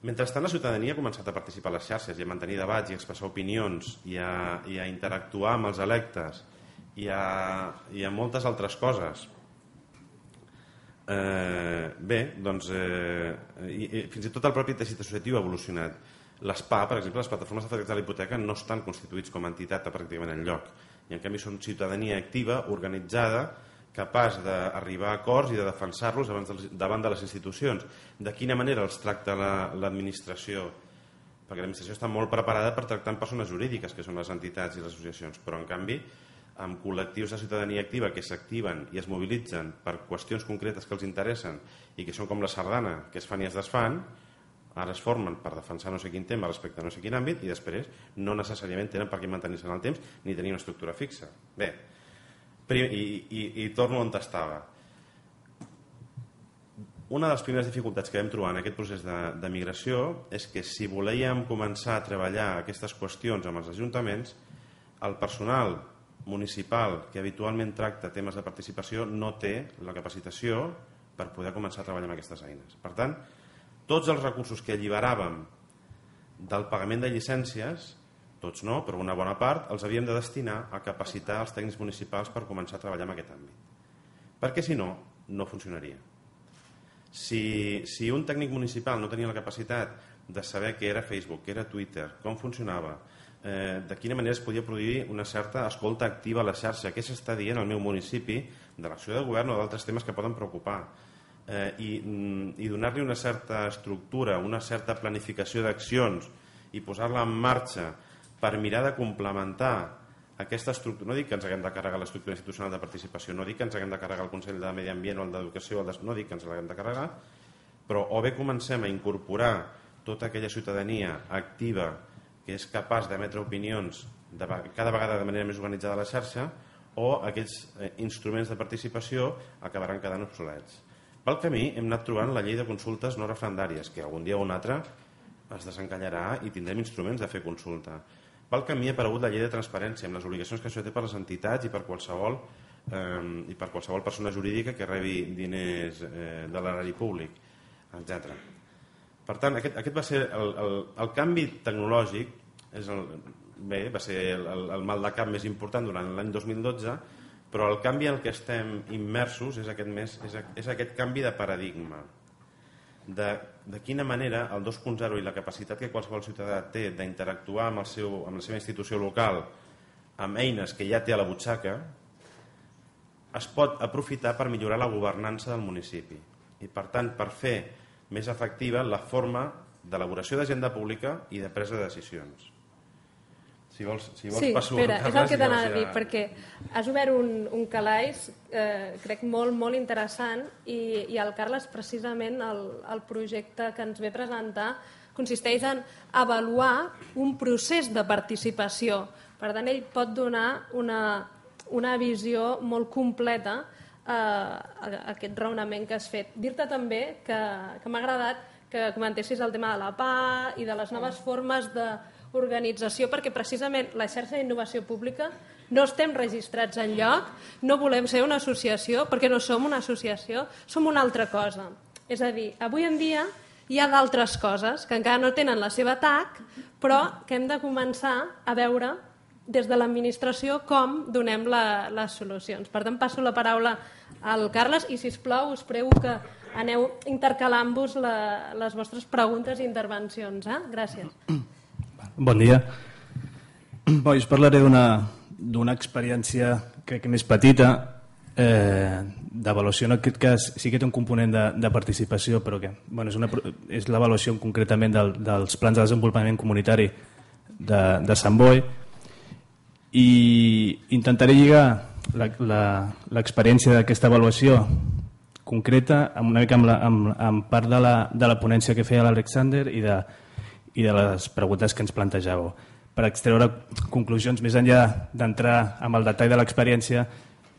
S4: Mentrestant, la ciutadania ha començat a participar a les xarxes i a mantenir debats i a expressar opinions i a, i a interactuar amb els electes i a, i a moltes altres coses. Eh, bé, doncs, eh, i, i fins i tot el propi teixit associatiu ha evolucionat. Les P A, per exemple, les plataformes d'afectats a la hipoteca, no estan constituïts com a entitat a pràcticament enlloc. I en canvi són ciutadania activa, organitzada capaç d'arribar a acords i de defensar-los davant de les institucions. De quina manera els tracta l'administració? Perquè l'administració està molt preparada per tractar amb persones jurídiques, que són les entitats i les associacions, però en canvi amb col·lectius de ciutadania activa que s'activen i es mobilitzen per qüestions concretes que els interessen i que són com la sardana, que es fan i es desfan, ara es formen per defensar no sé quin tema respecte a no sé quin àmbit i després no necessàriament tenen per què mantenir-se en el temps ni tenir una estructura fixa. Bé, i, i, i torno on estava. Una de les primeres dificultats que vam trobar en aquest procés de, de migració és que si volíem començar a treballar aquestes qüestions amb els ajuntaments, el personal municipal que habitualment tracta temes de participació no té la capacitació per poder començar a treballar amb aquestes eines. Per tant, tots els recursos que alliberàvem del pagament de llicències, tots no, però una bona part, els havíem de destinar a capacitar els tècnics municipals per començar a treballar en aquest àmbit. Perquè si no, no funcionaria. Si, si un tècnic municipal no tenia la capacitat de saber què era Facebook, què era Twitter, com funcionava, eh, de quina manera es podia produir una certa escolta activa a la xarxa, què s'està dient al meu municipi de l'acció de govern o d'altres temes que poden preocupar, eh, i, i donar-li una certa estructura, una certa planificació d'accions i posar-la en marxa per mirar de complementar aquesta estructura. No dic que ens haguem de carregar l'estructura institucional de participació, no dic que ens haguem de carregar el Consell de Medi Ambient o el d'Educació, no dic que ens l'haguem de carregar, però o bé comencem a incorporar tota aquella ciutadania activa que és capaç d'emetre opinions de, cada vegada de manera més organitzada a la xarxa, o aquells eh, instruments de participació acabaran quedant obsolets. Pel camí hem anat trobant la llei de consultes no referendàries, que algun dia o un altre es desencallarà i tindrem instruments de fer consulta. Pel camí ha aparegut la llei de transparència amb les obligacions que això té per les entitats i per qualsevol, eh, i per qualsevol persona jurídica que rebi diners eh, de l'erari públic, etcètera. Per tant, aquest, aquest va ser el, el, el canvi tecnològic, és el, bé, va ser el, el, el mal de cap més important durant l'any dos mil dotze, però el canvi en què estem immersos és aquest, més, és, és aquest canvi de paradigma. De, de quina manera el dos punt zero i la capacitat que qualsevol ciutadà té d'interactuar amb, el seu, amb la seva institució local amb eines que ja té a la butxaca es pot aprofitar per millorar la governança del municipi i per tant per fer més efectiva la forma d'elaboració d'agenda pública i de presa de decisions. Si vols, si vols
S2: sí,
S4: passo
S2: espera, és el que t'anava
S4: ja...
S2: a dir, perquè has obert un, un calaix, eh, crec, molt, molt interessant, i, i el Carles, precisament, el, el projecte que ens ve a presentar consisteix en avaluar un procés de participació. Per tant, ell pot donar una, una visió molt completa eh, a aquest raonament que has fet. Dir-te també que, que m'ha agradat que comentessis el tema de la P A i de les noves formes de organització, perquè precisament la xarxa d'innovació pública no estem registrats en lloc, no volem ser una associació, perquè no som una associació, som una altra cosa. És a dir, avui en dia hi ha d'altres coses que encara no tenen la seva T A C, però que hem de començar a veure des de l'administració com donem la, les solucions. Per tant, passo la paraula al Carles i, sisplau, us prego que aneu intercalant-vos la, les vostres preguntes i intervencions. Eh? Gràcies.
S5: Bon dia. Bo, jo us parlaré d'una experiència crec que més petita, eh, d'avaluació. En aquest cas sí que té un component de, de participació, però que bueno, és, una, és l'avaluació concretament del, dels plans de desenvolupament comunitari de, de Sant Boi, i intentaré lligar l'experiència d'aquesta avaluació concreta amb una mica amb, la, amb, amb part de la, de la ponència que feia l'Alexander i de i de les preguntes que ens plantejàveu. Per extreure conclusions, més enllà d'entrar amb el detall de l'experiència,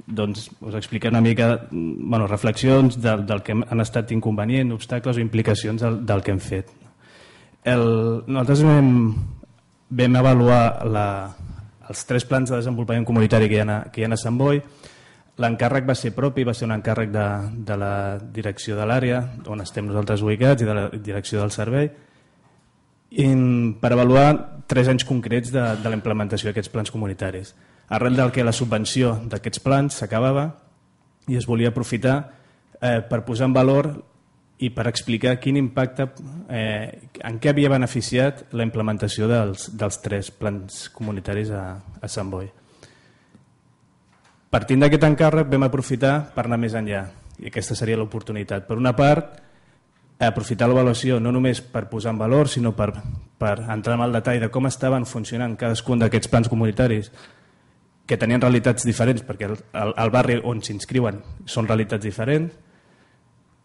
S5: doncs us explicaré una mica bueno, reflexions del, del que han estat inconvenient, obstacles o implicacions del, del que hem fet. El, nosaltres vam, vam avaluar la, els tres plans de desenvolupament comunitari que hi ha a, que hi ha a Sant Boi. L'encàrrec va ser propi, va ser un encàrrec de, de la direcció de l'àrea, on estem nosaltres ubicats, i de la direcció del servei, I, per avaluar tres anys concrets de, de la implementació d'aquests plans comunitaris. Arrel del que la subvenció d'aquests plans s'acabava i es volia aprofitar eh, per posar en valor i per explicar quin impacte, eh, en què havia beneficiat la implementació dels, dels tres plans comunitaris a, a Sant Boi. Partint d'aquest encàrrec vam aprofitar per anar més enllà, i aquesta seria l'oportunitat. Per una part, aprofitar l'avaluació no només per posar en valor, sinó per, per entrar en el detall de com estaven funcionant cadascun d'aquests plans comunitaris, que tenien realitats diferents, perquè el, el, el barri on s'inscriuen són realitats diferents,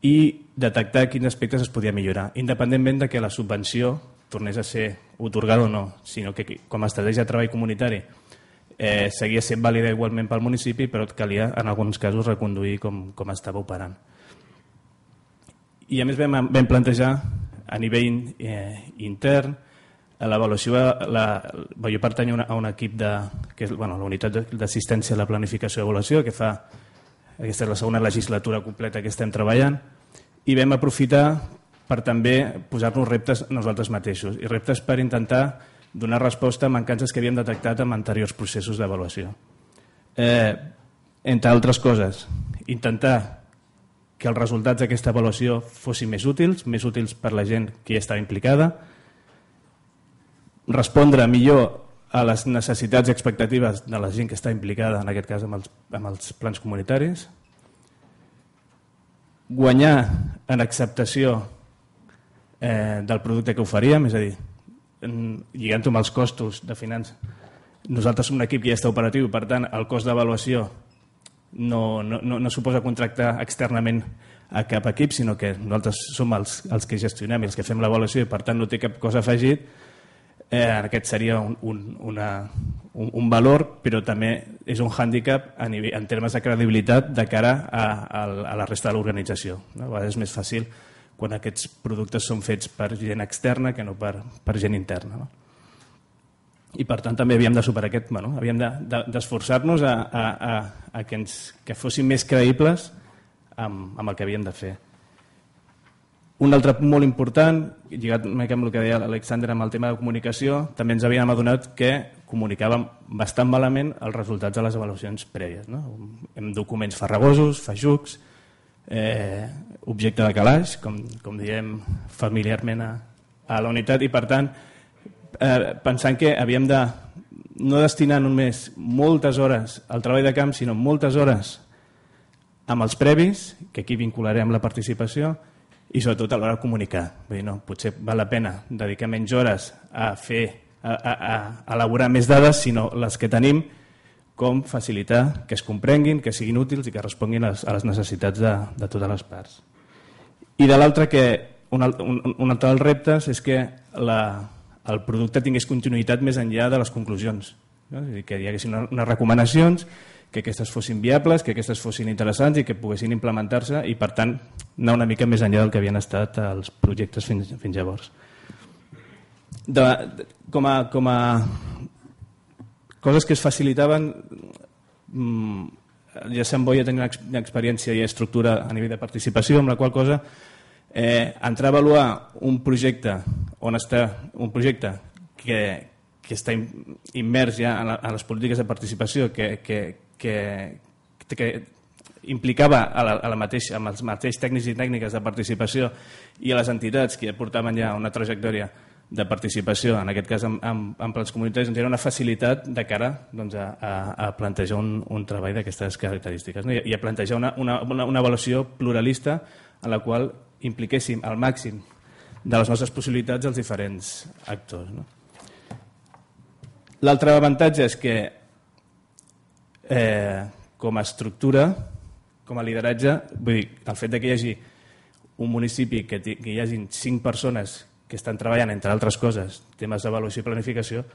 S5: i detectar quins aspectes es podia millorar, independentment de que la subvenció tornés a ser otorgada o no, sinó que com a estratègia de treball comunitari eh, seguia sent vàlida igualment pel municipi, però calia en alguns casos reconduir com, com estava operant. I a més vam, vam plantejar a nivell eh, intern l'avaluació, la, jo pertanyo a, a un equip de, que és bueno, la unitat d'assistència a la planificació i avaluació, que fa, aquesta és la segona legislatura completa que estem treballant, i vam aprofitar per també posar-nos reptes nosaltres mateixos, i reptes per intentar donar resposta a mancances que havíem detectat en anteriors processos d'avaluació. Eh, entre altres coses, intentar que els resultats d'aquesta avaluació fossin més útils, més útils per la gent que hi estava implicada, respondre millor a les necessitats i expectatives de la gent que està implicada, en aquest cas amb els, amb els plans comunitaris, guanyar en acceptació eh, del producte que oferíem, és a dir, lligant-ho amb els costos de finances. Nosaltres som un equip que ja està operatiu, per tant, el cost d'avaluació no, no, no, no suposa contractar externament a cap equip, sinó que nosaltres som els, els que gestionem i els que fem l'avaluació i per tant no té cap cosa afegit. Eh, aquest seria un, un, una, un, un valor, però també és un hàndicap a nivell, en termes de credibilitat de cara a, a, a la resta de l'organització. No? A vegades és més fàcil quan aquests productes són fets per gent externa que no per, per gent interna. No? I per tant també havíem de superar aquest, bueno, havíem d'esforçar-nos de, de, a, a, a, a que, ens, que fossin més creïbles amb, amb el que havíem de fer. Un altre punt molt important, lligat amb el que deia l'Alexander amb el tema de comunicació, també ens havíem adonat que comunicàvem bastant malament els resultats de les avaluacions prèvies. No? Amb documents farragosos, feixucs, eh, objecte de calaix, com, com diem familiarment a, a la unitat, i per tant eh, pensant que havíem de no destinar només moltes hores al treball de camp, sinó moltes hores amb els previs, que aquí vincularem la participació, i sobretot a l'hora de comunicar. Vull dir, no, potser val la pena dedicar menys hores a fer, a, a, a elaborar més dades, sinó les que tenim, com facilitar que es comprenguin, que siguin útils i que responguin a les, a les necessitats de, de totes les parts. I de l'altre, que un, un, un altre dels reptes és que la, el producte tingués continuïtat més enllà de les conclusions. No? És a dir, que hi haguessin unes recomanacions, que aquestes fossin viables, que aquestes fossin interessants i que poguessin implementar-se i, per tant, anar una mica més enllà del que havien estat els projectes fins, fins llavors. De, de, com, a, com a coses que es facilitaven, ja Sant Boi ja tenia una experiència i estructura a nivell de participació, amb la qual cosa eh, entrar a avaluar un projecte on està un projecte que, que està immers ja en, la, en les polítiques de participació, que, que Que, que implicava a la, a la mateixa, amb els mateixos tècnics i tècniques de participació i a les entitats que ja portaven ja una trajectòria de participació, en aquest cas amb, amb, amb plans comunitaris, doncs era una facilitat de cara doncs, a, a, a plantejar un, un treball d'aquestes característiques, no? I, i a plantejar una, una, una, una avaluació pluralista en la qual impliquéssim al màxim de les nostres possibilitats els diferents actors. No? L'altre avantatge és que Eh, com a estructura, com a lideratge, vull dir, el fet de que hi hagi un municipi, que, que hi hagi cinc persones que estan treballant, entre altres coses, temes d'avaluació i planificació,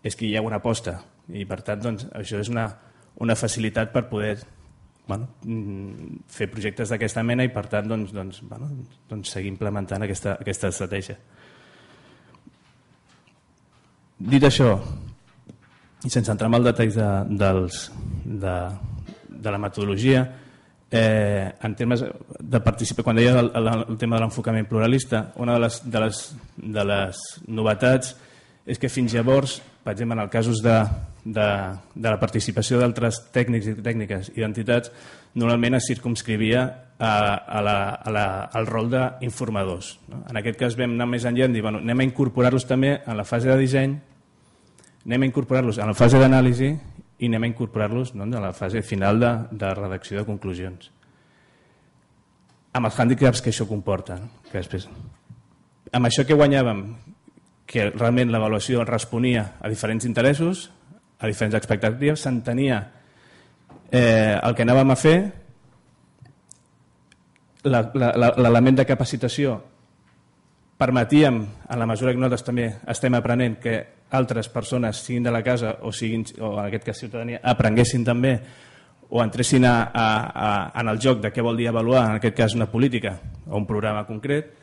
S5: és que hi ha una aposta i per tant doncs, això és una, una facilitat per poder bueno, fer projectes d'aquesta mena i per tant doncs, doncs, bueno, doncs seguir implementant aquesta, aquesta estratègia. Dit això, i sense entrar en els detalls de, dels, de, de la metodologia, eh, en termes de participar, quan deia el, el, el tema de l'enfocament pluralista, una de les, de, les, de les novetats és que fins llavors, per exemple, en els casos de, de, de la participació d'altres tècnics i tècniques i d'entitats, normalment es circumscrivia a, a la, a la, al rol d'informadors. No? En aquest cas vam anar més enllà i dir, bueno, anem a incorporar-los també en la fase de disseny, anem a incorporar-los en la fase d'anàlisi i anem a incorporar-los a la fase final de redacció de conclusions. Amb els hàndicaps que això comporta. Amb això que guanyàvem, que realment l'avaluació responia a diferents interessos, a diferents expectatives, s'entenia el que anàvem a fer, l'element de capacitació permetíem, en la mesura que nosaltres també estem aprenent, que altres persones, siguin de la casa o, siguin, o en aquest cas ciutadania, aprenguessin també o entressin a, a, a, en el joc de què vol dir avaluar, en aquest cas una política o un programa concret,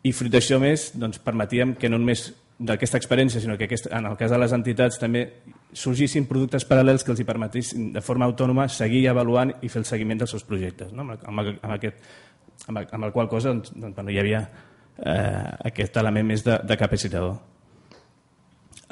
S5: i fruit d'això més doncs, permetíem que no només d'aquesta experiència, sinó que aquest, en el cas de les entitats també sorgissin productes paral·lels que els hi permetissin de forma autònoma seguir avaluant i fer el seguiment dels seus projectes, no? amb, amb, amb, aquest, amb, amb el qual cosa doncs, doncs, bueno, hi havia eh, aquest element més de, de capacitador.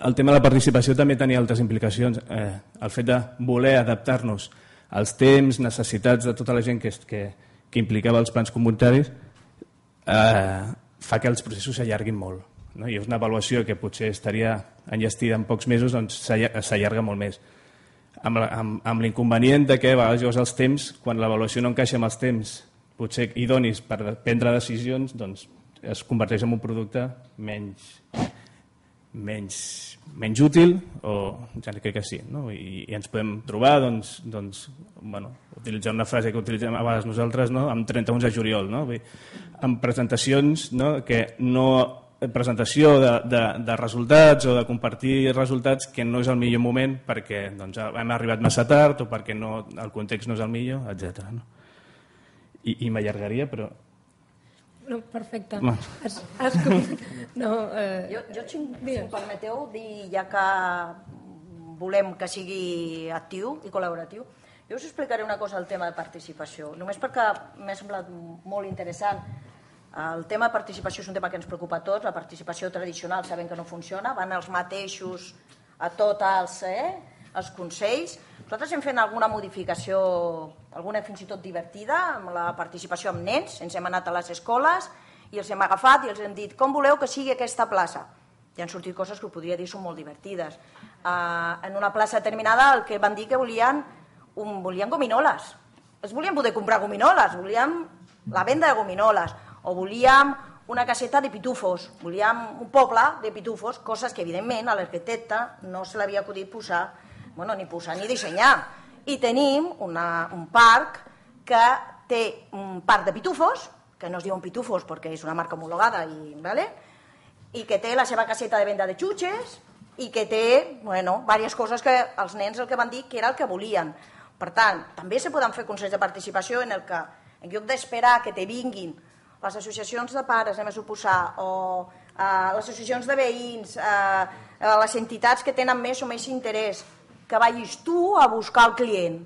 S5: El tema de la participació també tenia altres implicacions. Eh, el fet de voler adaptar-nos als temps, necessitats de tota la gent que, que, que implicava els plans comunitaris eh, fa que els processos s'allarguin molt. No? I és una avaluació que potser estaria enllestida en pocs mesos, doncs s'allarga molt més. Amb, amb, amb l'inconvenient de que a vegades els temps, quan l'avaluació no encaixa amb els temps potser idonis per prendre decisions, doncs es converteix en un producte menys, menys, menys útil, o ja crec que sí, no? I, i ens podem trobar, doncs, doncs bueno, utilitzant una frase que utilitzem a vegades nosaltres, no? Amb trenta-u de juliol, no? Amb presentacions, no? Que no presentació de, de, de resultats o de compartir resultats que no és el millor moment perquè doncs, hem arribat massa tard o perquè no, el context no és el millor, etcètera. No? I, i m'allargaria, però...
S2: No, perfecte.
S5: No.
S2: Has, has... No, eh...
S3: Jo, jo si, si em permeteu dir, ja que volem que sigui actiu i col·laboratiu, jo us explicaré una cosa al tema de participació, només perquè m'ha semblat molt interessant. El tema de participació és un tema que ens preocupa a tots. La participació tradicional sabem que no funciona, van els mateixos a tots els, eh, els consells. Nosaltres hem fet alguna modificació, alguna fins i tot divertida, amb la participació amb nens. Ens hem anat a les escoles i els hem agafat i els hem dit com voleu que sigui aquesta plaça. I han sortit coses que podria dir són molt divertides. Uh, en una plaça determinada el que van dir que volien, un, volien gominoles. Es volien poder comprar gominoles, volien la venda de gominoles. O volíem una caseta de pitufos, volíem un poble de pitufos, coses que evidentment a l'arquitecte no se l'havia acudit posar, bueno, ni posar ni dissenyar. I tenim una, un parc que té un parc de pitufos, que no es diuen pitufos perquè és una marca homologada, i, ¿vale? I que té la seva caseta de venda de xutxes i que té, bueno, diverses coses que els nens el que van dir que era el que volien. Per tant, també se poden fer consells de participació en el que, en lloc d'esperar que te vinguin les associacions de pares, anem a suposar, o eh, les associacions de veïns, eh, les entitats que tenen més o més interès, que vagis tu a buscar el client,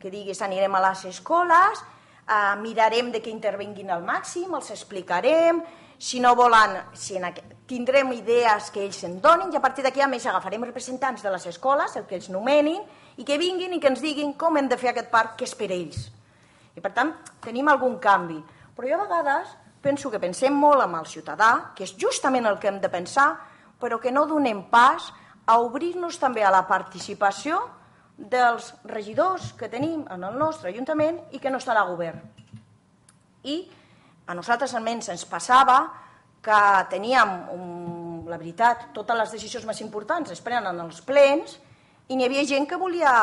S3: que diguis anirem a les escoles, eh, mirarem de que intervinguin al màxim, els explicarem, si no volen, si en aquest, tindrem idees que ells en donin i a partir d'aquí a més agafarem representants de les escoles, el que ells nomenin, i que vinguin i que ens diguin com hem de fer aquest parc que és per ells. I per tant, tenim algun canvi. Però jo a vegades penso que pensem molt amb el ciutadà, que és justament el que hem de pensar, però que no donem pas a obrir-nos també a la participació dels regidors que tenim en el nostre Ajuntament i que no estan al govern. I a nosaltres almenys ens passava que teníem, un, la veritat, totes les decisions més importants es prenen en els plens i n'hi havia gent que volia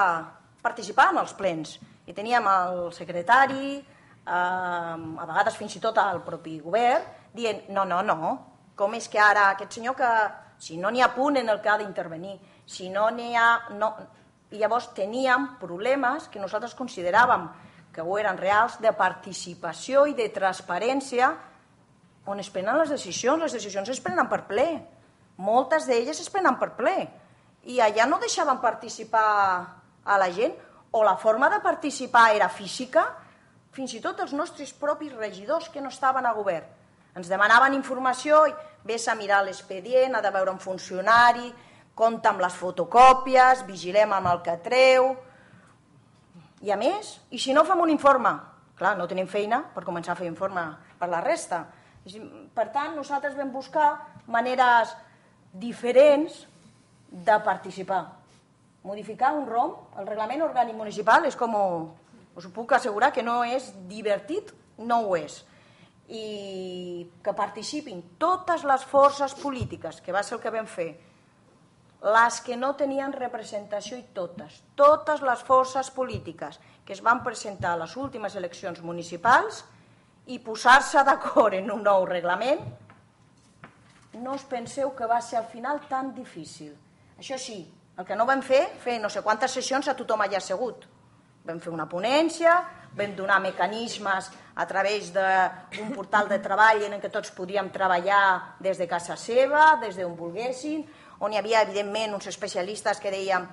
S3: participar en els plens. I teníem el secretari, a vegades fins i tot al propi govern, dient no, no, no, com és que ara aquest senyor que si no n'hi ha punt en el que ha d'intervenir, si no n'hi ha... No... I llavors teníem problemes que nosaltres consideràvem que ho eren reals de participació i de transparència on es prenen les decisions. Les decisions es prenen per ple. Moltes d'elles es prenen per ple. I allà no deixaven participar a la gent, o la forma de participar era física. Fins i tot els nostres propis regidors que no estaven a govern. Ens demanaven informació i vés a mirar l'expedient, ha de veure un funcionari, compta amb les fotocòpies, vigilem amb el que treu. I a més, i si no fem un informe? Clar, no tenim feina per començar a fer informe per la resta. Per tant, nosaltres vam buscar maneres diferents de participar. Modificar un R O M, el reglament orgànic municipal, és com, us ho puc assegurar que no és divertit, no ho és. I que participin totes les forces polítiques, que va ser el que vam fer, les que no tenien representació i totes, totes les forces polítiques que es van presentar a les últimes eleccions municipals i posar-se d'acord en un nou reglament, no us penseu que va ser al final tan difícil. Això sí, el que no vam fer, fer no sé quantes sessions a tothom allà assegut. Vam fer una ponència, vam donar mecanismes a través d'un portal de treball en què tots podíem treballar des de casa seva, des d'on volguessin, on hi havia, evidentment, uns especialistes que dèiem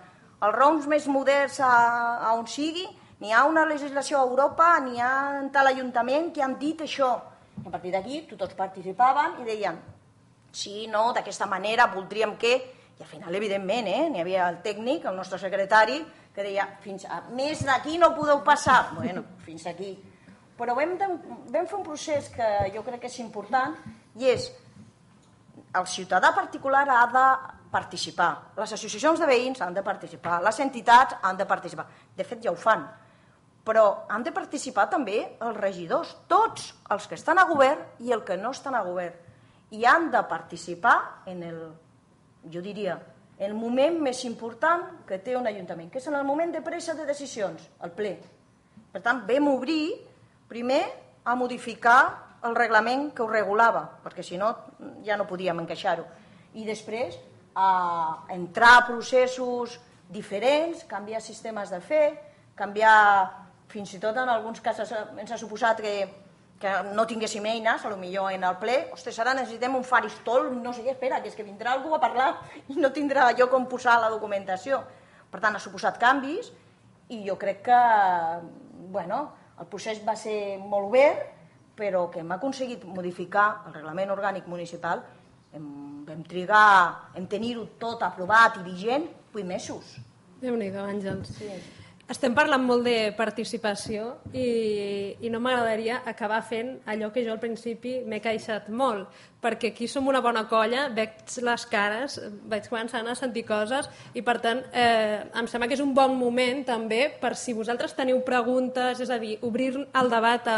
S3: els R O Ms més moderns a on sigui, n'hi ha una legislació a Europa, n'hi ha en tal ajuntament que han dit això. I a partir d'aquí tots participaven i deien sí, no, d'aquesta manera voldríem que... I al final, evidentment, eh, n'hi havia el tècnic, el nostre secretari, que deia fins a més d'aquí no podeu passar. Bueno, fins aquí. Però vam, de, vam fer un procés que jo crec que és important i és el ciutadà particular ha de participar, les associacions de veïns han de participar, les entitats han de participar. De fet, ja ho fan. Però han de participar també els regidors, tots els que estan a govern i els que no estan a govern. I han de participar en el, jo diria, el moment més important que té un ajuntament, que és en el moment de presa de decisions, el ple. Per tant, vam obrir primer a modificar el reglament que ho regulava, perquè si no ja no podíem encaixar-ho. I després a entrar a processos diferents, canviar sistemes de fer, canviar, fins i tot en alguns casos ens ha suposat que, que no tinguéssim eines, potser en el ple, ostres, ara necessitem un faristol, no sé què, espera, que és que vindrà algú a parlar i no tindrà lloc on posar la documentació. Per tant, ha suposat canvis i jo crec que, bueno, el procés va ser molt obert, però que hem aconseguit modificar el reglament orgànic municipal, hem, vam trigar en tenir-ho tot aprovat i vigent vuit mesos.
S2: Déu-n'hi-do, Àngels.
S3: Sí.
S2: Estem parlant molt de participació i, i no m'agradaria acabar fent allò que jo al principi m'he queixat molt, perquè aquí som una bona colla, veig les cares, vaig començant a sentir coses i per tant eh, em sembla que és un bon moment també per si vosaltres teniu preguntes, és a dir, obrir el debat a,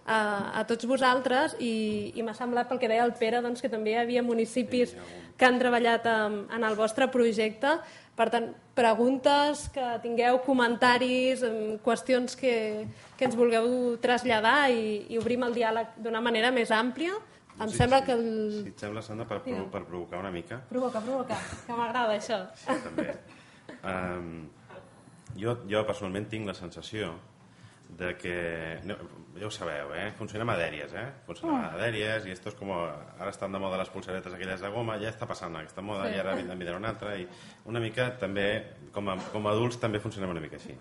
S2: a, a tots vosaltres i, i m'ha semblat pel que deia el Pere doncs, que també hi havia municipis que han treballat en, en el vostre projecte. Per tant, preguntes que tingueu, comentaris, qüestions que, que ens vulgueu traslladar i, i obrim el diàleg d'una manera més àmplia. Em
S4: sí,
S2: sembla
S4: sí.
S2: que el...
S4: Si et sembla, Sandra, per, pro, per provocar una mica.
S2: Provoca, provoca, que m'agrada això.
S4: Sí, també. Um, jo, jo personalment tinc la sensació de que, no, ja ho sabeu, eh? Funcionem a dèries, eh? Funcionem a dèries i esto és com, ara estan de moda les pulseretes aquelles de goma, ja està passant aquesta moda sí. I ara en vindrà una altra i una mica també, com a, com a adults també funcionem una mica així.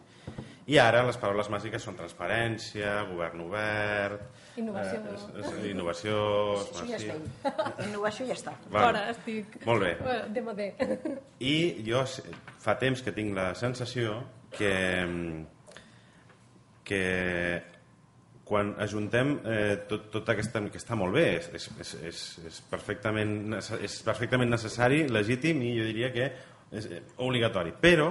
S4: I ara les paraules màgiques són transparència, govern obert...
S2: Innovació.
S4: Eh, és, és, innovació...
S3: Això ja està. Innovació ja està.
S2: Bueno, Fora, estic...
S4: Molt bé.
S2: De modé.
S4: I jo fa temps que tinc la sensació que... que quan ajuntem eh, tot, tot aquesta, que està molt bé, és, és, és, és, perfectament, és perfectament necessari, legítim i jo diria que és obligatori. Però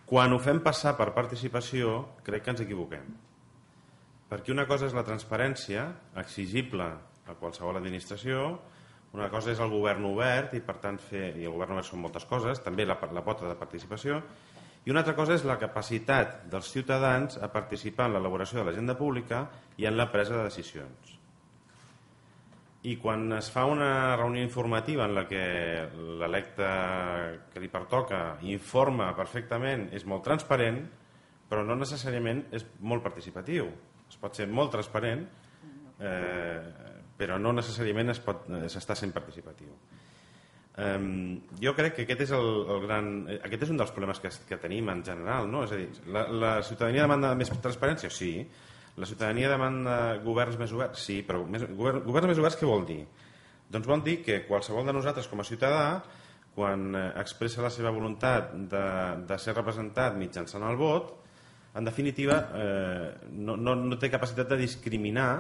S4: quan ho fem passar per participació crec que ens equivoquem. Perquè una cosa és la transparència exigible a qualsevol administració, una cosa és el govern obert i per tant fer, i el govern obert són moltes coses, també la, la pota de participació, i una altra cosa és la capacitat dels ciutadans a participar en l'elaboració de l'agenda pública i en la presa de decisions. I quan es fa una reunió informativa en la que l'electe que li pertoca informa perfectament, és molt transparent, però no necessàriament és molt participatiu. Es pot ser molt transparent, eh, però no necessàriament es pot, s'està sent participatiu. Um, jo crec que aquest és, el, el gran, aquest és un dels problemes que, que tenim en general, no? És a dir, la, la ciutadania demanda més transparència? Sí. La ciutadania demanda governs més oberts? Sí, però més, govern, governs més oberts què vol dir? Doncs vol dir que qualsevol de nosaltres com a ciutadà, quan expressa la seva voluntat de, de ser representat mitjançant el vot, en definitiva eh, no, no, no té capacitat de discriminar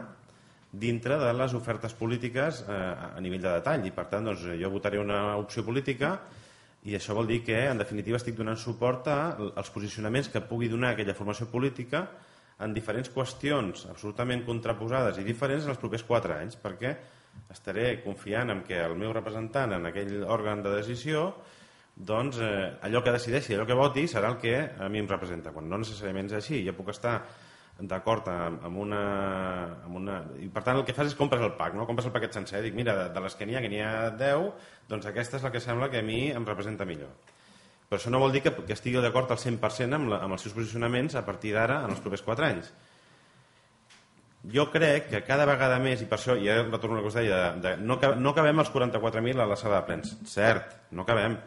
S4: dintre de les ofertes polítiques eh, a nivell de detall i per tant doncs, jo votaré una opció política I això vol dir que, en definitiva, estic donant suport als posicionaments que pugui donar aquella formació política en diferents qüestions absolutament contraposades i diferents en els propers quatre anys, perquè estaré confiant en que el meu representant en aquell òrgan de decisió, doncs eh, allò que decideixi, allò que voti, serà el que a mi em representa, quan no necessàriament és així. Jo puc estar d'acord amb una, amb una... I per tant el que fas és compres el pack, no? Compres el paquet sencer, dic, mira, de, de les que n'hi ha, que n'hi ha deu, doncs aquesta és la que sembla que a mi em representa millor. Però això no vol dir que, que estigui d'acord al cent per cent amb, la, amb els seus posicionaments a partir d'ara en els propers quatre anys. Jo crec que cada vegada més, i per això ja retorno a la que us deia, de, de, no, no acabem els quaranta-quatre mil a la sala de plens, cert, no acabem,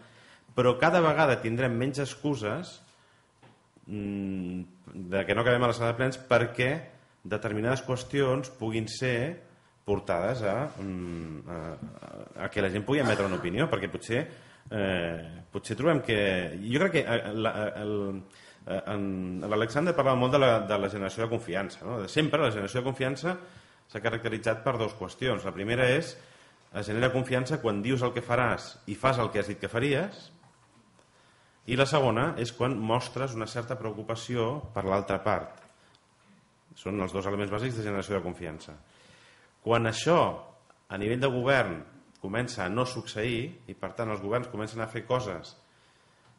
S4: però cada vegada tindrem menys excuses de que no acabem a la sala de plens perquè determinades qüestions puguin ser portades a, a, a que la gent pugui emetre una opinió, perquè potser eh, potser trobem que... Jo crec que l'Alexander parlava molt de la, de la generació de confiança, no? Sempre la generació de confiança s'ha caracteritzat per dues qüestions. La primera és es genera confiança quan dius el que faràs i fas el que has dit que faries, i la segona és quan mostres una certa preocupació per l'altra part. Són els dos elements bàsics de generació de confiança. Quan això, a nivell de govern, comença a no succeir, i per tant els governs comencen a fer coses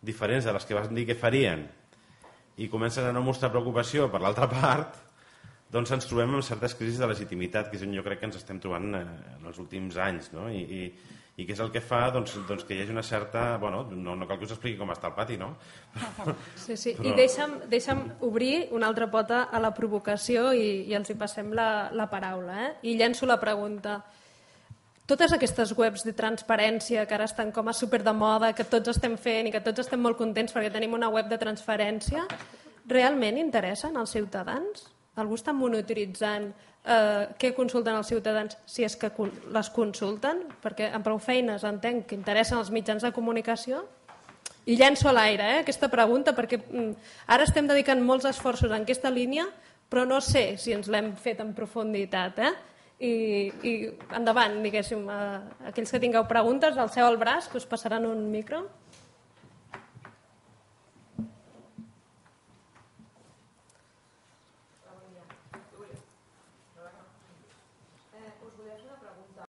S4: diferents de les que van dir que farien, i comencen a no mostrar preocupació per l'altra part, doncs ens trobem amb certes crisis de legitimitat, que és on jo crec que ens estem trobant en els últims anys, no? I, i i que és el que fa doncs, doncs que hi hagi una certa... Bueno, no, no cal que us expliqui com està el pati, no?
S2: Sí, sí.
S4: Però...
S2: I deixa'm, deixa'm obrir una altra pota a la provocació i, i els hi passem la, la paraula. Eh? I llenço la pregunta. Totes aquestes webs de transparència que ara estan com a super de moda, que tots estem fent i que tots estem molt contents perquè tenim una web de transparència, realment interessen als ciutadans? Algú està monitoritzant eh, què consulten els ciutadans si és que les consulten? Perquè amb prou feines entenc que interessen els mitjans de comunicació. I llenço a l'aire eh, aquesta pregunta perquè mm, ara estem dedicant molts esforços en aquesta línia, però no sé si ens l'hem fet en profunditat. Eh? I, i endavant, diguéssim, eh, aquells que tingueu preguntes, alceu el braç, que us passaran un micro.